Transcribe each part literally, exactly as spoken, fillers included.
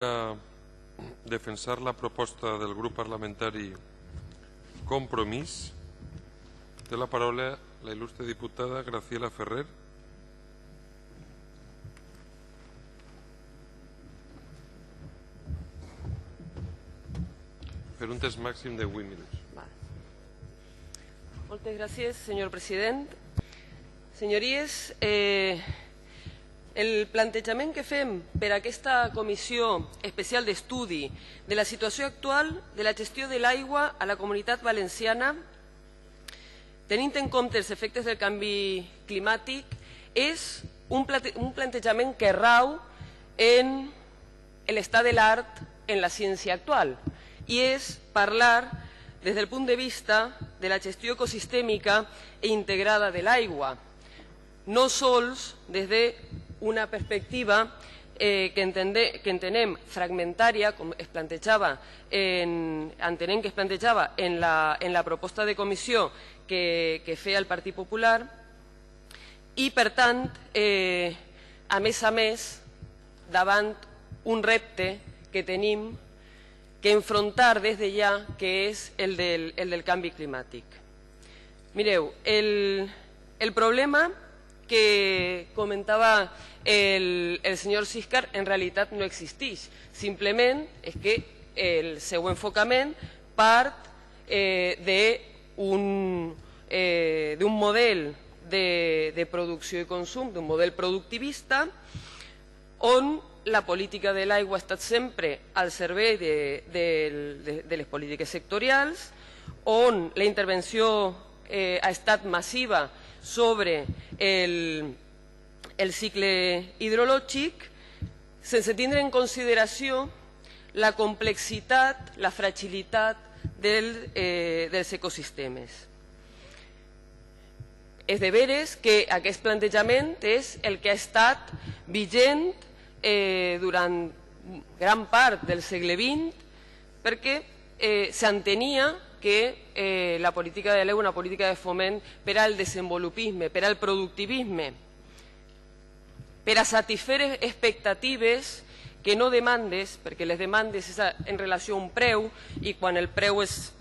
A defensar la proposta del grup parlamentari Compromís. Té la paraula la il·lustre diputada Graciela Ferrer. Per un temps màxim de vuit minuts. Moltes gràcies, senyor president. Senyories, eh, el plantejament que fem per a aquesta comissió especial d'estudi de la situació actual de la gestió de l'aigua a la Comunitat Valenciana, tenint en compte els efectes del canvi climàtic, és un plantejament que rau en l'estat de l'art en la ciència actual, i és parlar des del punt de vista de la gestió ecosistèmica e integrada de l'aigua, no sols des d'una perspectiva eh, que, entende, que entenem fragmentària, com es plantejava en, entenem que es plantejava en la, en la proposta de comissió que, que feia el Partit Popular, i per tant, eh, a més a més, davant un repte que tenim que enfrontar des de ja, que és el del, el del canvi climàtic. Mireu, el, el problema que comentava el, el senyor Siscar en realitat no existeix. Simplement és que el seu enfocament part eh, d'un eh, model de, de producció i consum, d'un model productivista, on la política de l'aigua ha estat sempre al servei de, de, de, de les polítiques sectorials, on la intervenció eh, ha estat massiva sobre el, el cicle hidrològic, sense tindre en consideració la complexitat, la fragilitat del, eh, dels ecosistemes. És de veres que aquest plantejament és el que ha estat vigent eh, durant gran part del segle vint, perquè eh, s'entenia que eh, la política de l'aigua és una política de foment per al desenvolupisme, per al productivisme, per a satisfer expectatives que no demandes, perquè les demandes és en relació a un preu, i quan el preu és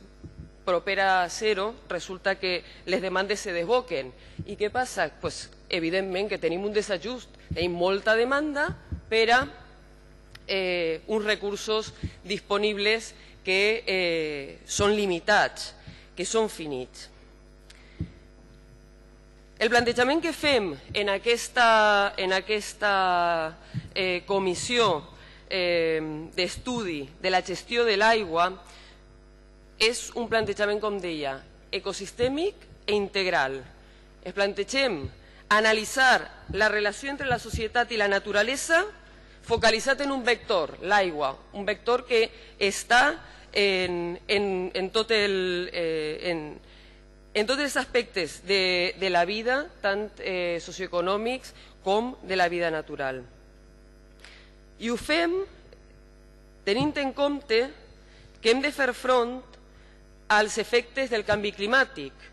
proper a zero, resulta que les demandes se desboquen. I què passa? Pues, evidentment que tenim un desajust, tenim molta demanda per a eh, uns recursos disponibles que eh, són limitats, que són finits. El plantejament que fem en aquesta, en aquesta eh, comissió eh, d'estudi de la gestió de l'aigua és un plantejament, com deia, ecosistèmic e integral. Es plantegem analitzar la relació entre la societat i la naturalesa focalitzat en un vector, l'aigua, un vector que està en, en, en, tot el, eh, en, en tots els aspectes de, de la vida, tant eh, socioeconòmics com de la vida natural. I ho fem tenint en compte que hem de fer front als efectes del canvi climàtic.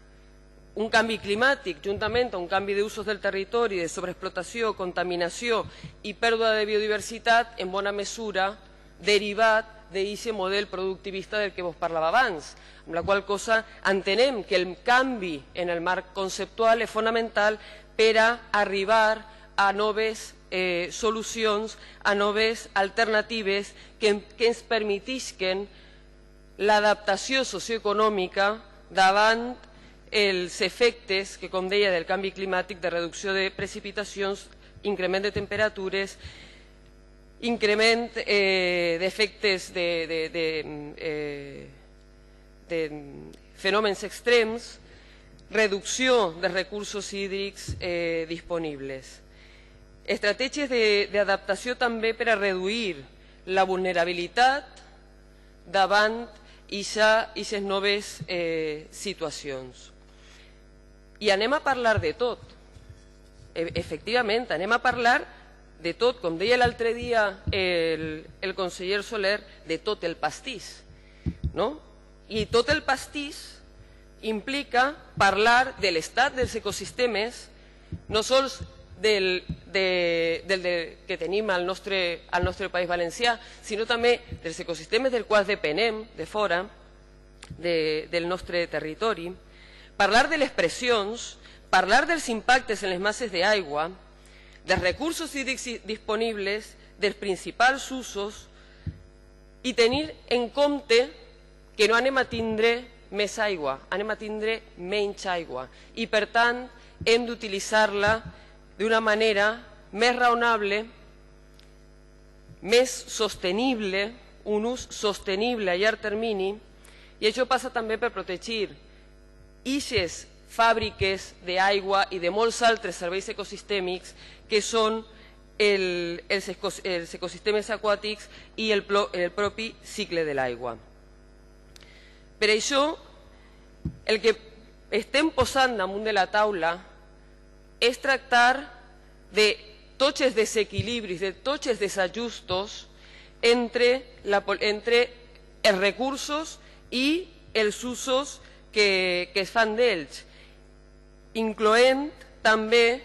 Un canvi climàtic, juntament amb un canvi d'usos del territori, de sobreexplotació, contaminació i pèrdua de biodiversitat, en bona mesura derivat d'aquest model productivista del que vos parlava abans, amb la qual cosa entenem que el canvi en el marc conceptual és fonamental per a arribar a noves eh, solucions, a noves alternatives que, que ens permetisquen l'adaptació socioeconòmica davant els efectes que, com deia, del canvi climàtic, de reducció de precipitacions, increment de temperatures, increment eh, d'efectes de, de, de, eh, de fenòmens extrems, reducció de recursos hídrics eh, disponibles. Estratègies d'adaptació també per a reduir la vulnerabilitat davant d'aquestes noves eh, situacions. I anem a parlar de tot. Efectivament, anem a parlar de tot, com deia l'altre dia el, el conseller Soler, de tot el pastís. No? I tot el pastís implica parlar de l'estat dels ecosistemes, no sols del, de, del de, que tenim al nostre, al nostre País Valencià, sinó també dels ecosistemes del quals depenem de fora de, del nostre territori, parlar de les pressions, parlar dels impactes en les masses d'aigua, dels recursos hídrics disponibles, dels principals usos i tenir en compte que no anem a tindre més aigua, anem a tindre menys aigua i per tant hem d'utilitzar-la d'una manera més raonable, més sostenible, un ús sostenible a llarg termini, i això passa també per protegir eixes fàbriques d'aigua i de molts altres serveis ecosistèmics que són el, els, ecos, els ecosistemes aquàtics i el, el propi cicle de l'aigua. Per això, el que estem posant damunt de la taula és tractar de tots els desequilibris, de tots els desajustos entre, la, entre els recursos i els usos que, que es fan d'ells, incloent també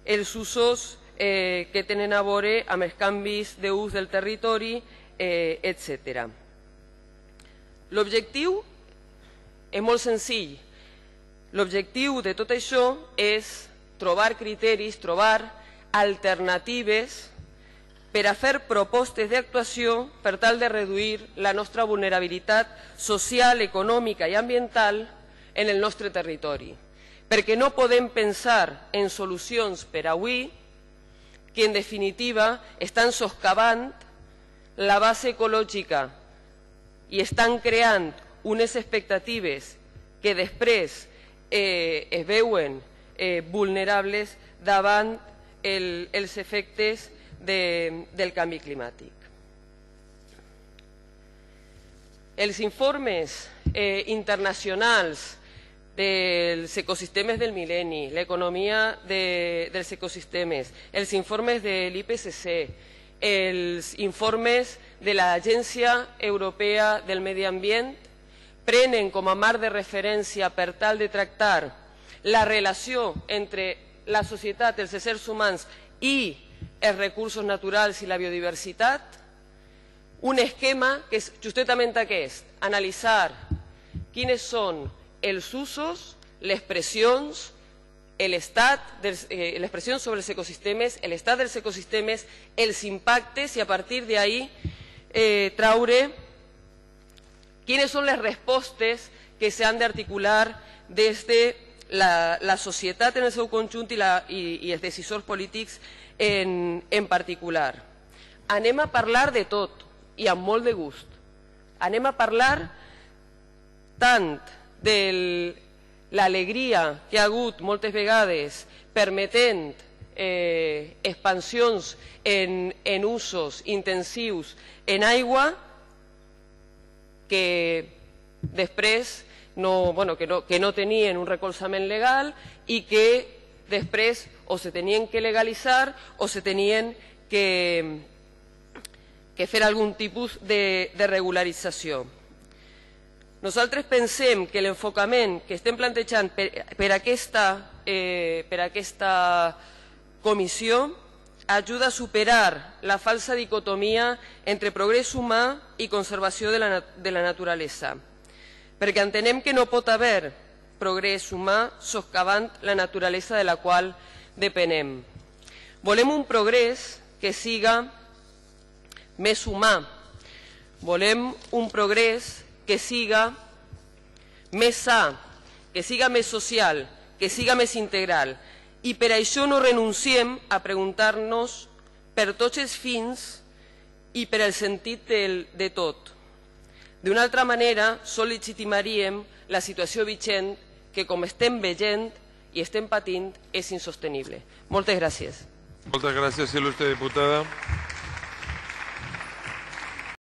els usos eh, que tenen a veure amb els canvis d'ús del territori, eh, etcètera. L'objectiu és molt senzill. L'objectiu de tot això és trobar criteris, trobar alternatives per a fer propostes d'actuació per tal de reduir la nostra vulnerabilitat social, econòmica i ambiental en el nostre territori. Perquè no podem pensar en solucions per avui que en definitiva estan soscavant la base ecològica i estan creant unes expectatives que després eh, es veuen eh, vulnerables davant el, els efectes de, del canvi climàtic. Els informes eh, internacionals dels ecosistemes del mil·lenni, l'economia de, dels ecosistemes, els informes de l'I P C C, els informes de l'Agència Europea del Medi Ambient prenen com a marc de referència per tal de tractar la relació entre la societat, els éssers humans i els recursos naturals i la biodiversitat, un esquema que és justament aquest, analitzar quines són els usos, les pressions, l'estat, eh, les pressions sobre els ecosistemes, l'estat dels ecosistemes, els impactes i a partir d'ahí eh, traure quines són les respostes que s'han d'articular des de la, la societat en el seu conjunt i, la, i, i els decisors polítics en, en particular. Anem a parlar de tot i amb molt de gust. Anem a parlar tant de l'alegria que ha hagut moltes vegades permetent eh, expansions en, en usos intensius en aigua que després no, bueno, que no, que no tenien un recolzament legal i que després o se tenien que legalitzar o se tenien que, que fer algun tipus de, de regularització. Nosaltres pensem que l'enfocament que estem plantejant per, per, aquesta, eh, per aquesta comissió ajuda a superar la falsa dicotomia entre progrés humà i conservació de la, de la naturalesa, perquè entenem que no pot haver progrés humà soscavant la naturalesa de la qual depenem. Volem un progrés que siga més humà, volem un progrés que siga més sa, que siga més social, que siga més integral. I per això no renunciem a preguntar-nos per tots els fins i per el sentit del, de tot. D'una altra manera, sol legitimaríem la situació vigent que, com estem veient i estem patint, és insostenible. Moltes gràcies. Moltes gràcies, il·lustre diputada.